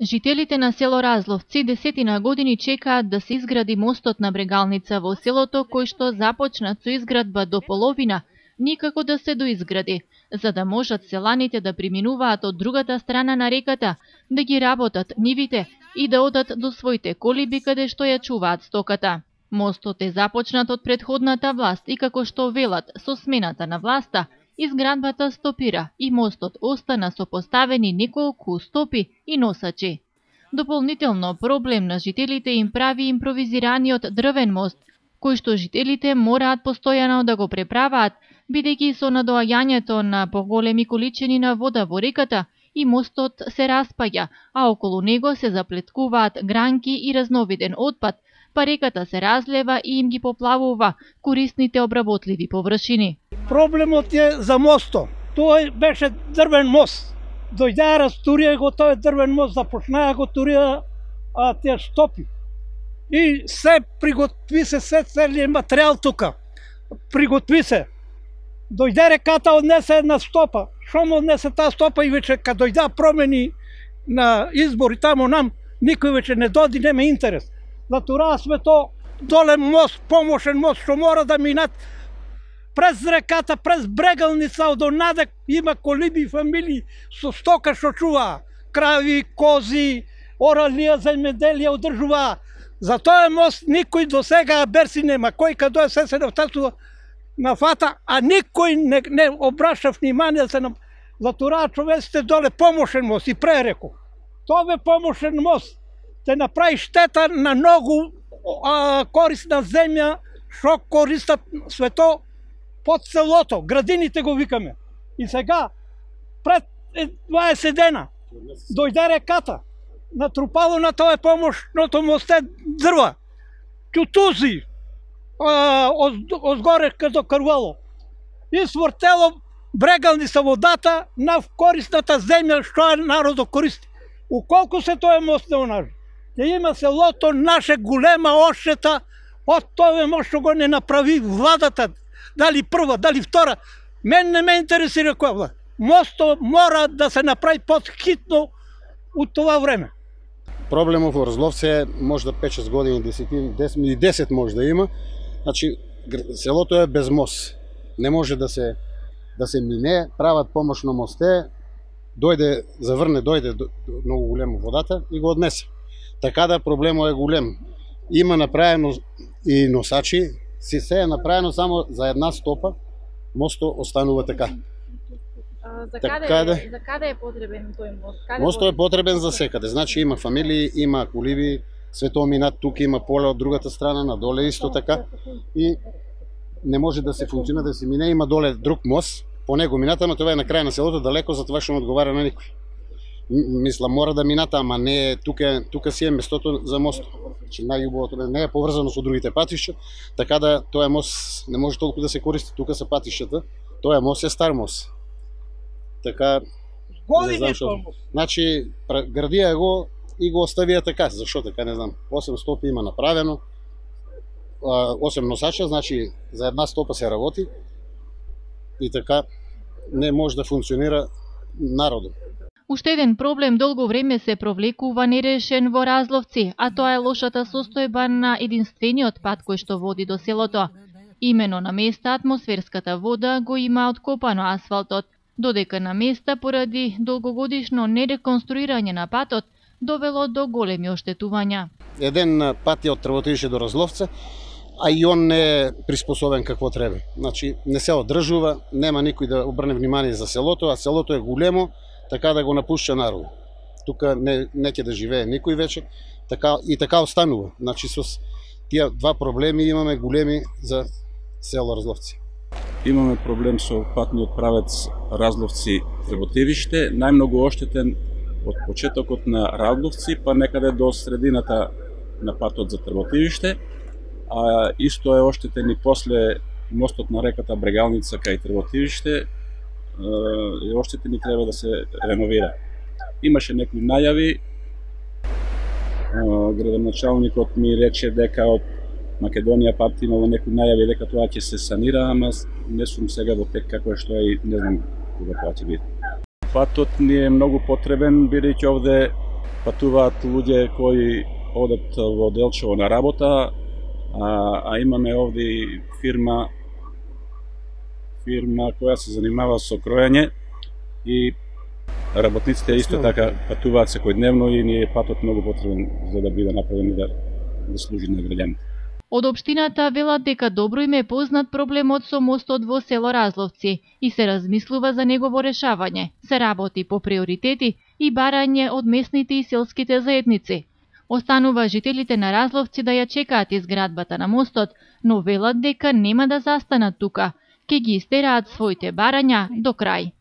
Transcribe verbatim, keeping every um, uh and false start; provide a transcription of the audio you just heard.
Жителите на село Разловци десетина години чекаат да се изгради мостот на Брегалница во селото, кој што започнат со изградба до половина, никако да се доизгради, за да можат селаните да преминуваат од другата страна на реката, да ги работат нивите и да одат до своите колиби каде што ја чуваат стоката. Мостот е започнат од претходната власт и како што велат со смената на власта, изградбата стопира и мостот остана со поставени неколку стопи и носачи. Дополнително проблем на жителите им прави импровизираниот дрвен мост, кој што жителите мораат постојано да го преправаат, бидејќи со надоаѓањето на поголеми количини на вода во реката и мостот се распаѓа, а околу него се заплеткуваат гранки и разновиден отпад, па реката се разлева и им ги поплавува корисните обработливи површини. Проблемот е за мостот. Тој беше дрвен мост. Дојдеа растурија го тој дрвен мост, започнаа го турија а, те стопи. И се приготви се, се целиот материјал тука. Приготви се. Дојде реката, однесе една стопа. Шо му однесе таа стопа и веќе кога дојдеа промени на избори тамо нам, никој веќе не доди, нема интерес. Натураа сме то доле мост, помошен мост, што мора да минат през реката, през Брегалница, од онаде има колиби и фамилии со стока што чуваа. Крави, кози, оралија, земјоделие одржуваа. За тој мост никој до сега берси нема. Кој каде се се навтасува на фата, а никој не, не обраша внимание да се на... Затура човеците доле помошен мост и пререко. Тоа бе помошен мост. Те направи штета на многу а, корисна земја, што користат свето под селото, градините го викаме. И сега, пред дваесет дена, дојде реката, натрупало на тоа помошното мосте дрва, тютузи, озгоре каде карвало. И свртело Брегалница водата на корисната земја што е народот користи. Уколку се тоа мост не онажи. Ја има селото наше голема одштета од тоа мост што го не направи владата, дали прва, дали втора. Мен не ме интересира која влада. Мостот мора да се направи подхитно од това време. Проблемот во Разловце може да пет-шест години, десет, десет може да има. Значи, селото е без мост. Не може да се да се мине, прават помошно мосте, дојде, заврне, дојде многу големо водата и го однесе. Така да проблемот е голем. Има направено и носачи, си се е направено само за една стопа, мостот останува така. А, за, така каде, да, за каде е потребен тој мост? Каде мостот е потребен за секаде. Значи има фамилии, има коливи, свето минат, тука има поле од другата страна, надоле исто така. И не може да се функционира, да се мине, има доле друг мост, по него мината, но тоа е на крај на селото, далеко, за тоа што не одговара на никој. Мисла, мора да мината, ама не е, тука, тука си е местото за мост. Значи, најубавото не е поврзано со другите патишта, така да тоа мост не може толку да се користи, тука се патиштата, тоа мост е стар мост. Така, не знам шо. Значи, градија го и го оставија така, зашо така, не знам. осем стопи има направено, осем носача, значи за една стопа се работи и така не може да функционира народот. Уште еден проблем долго време се провлекува нерешен во Разловци, а тоа е лошата состојба на единствениот пат кој што води до селото. Имено на места атмосферската вода го има откопано асфалтот, додека на места поради долгогодишно нереконструирање на патот довело до големи оштетувања. Еден пат е од Трвотивиште до Разловца, а и он не е приспособен какво треба. Значи, не се одржува, нема никој да обрне внимание за селото, а селото е големо, така да го напушча народ. Тука не, не ќе да живее никој вече, така, и така останува. Значи, со тие два проблеми имаме големи за село Разловци. Имаме проблем со патниот правец Разловци-Трвотивиште, најмногу оштетен од почетокот на Разловци, па некаде до средината на патот за Трвотивиште, а исто е оштетен и после мостот на реката Брегалница кај Трвотивиште, е оштетен и треба да се реновира. Имаше некои најави, градоначалникот ми рече дека од Македонија пат имало некои најави дека тоа ќе се санира, ама не сум сега во тек како е што е и не знам кога тоа ќе биде. Патот ни е многу потребен, бидејќи овде патуваат луѓе кои одат во Делчево на работа, а, а имаме овде фирма фирма која се занимава со кроење и работниците исто така патуваат секојдневно и ни е патот многу потребен за да биде направен и да, да служи на граѓаните. Од општината велат дека добро им е познат проблемот со мостот во село Разловци и се размислува за негово решавање. Се работи по приоритети и барање од местните и селските заедници. Останува жителите на Разловци да ја чекаат изградбата на мостот, но велат дека нема да застанат тука, ќе ги истераат своите барања до крај.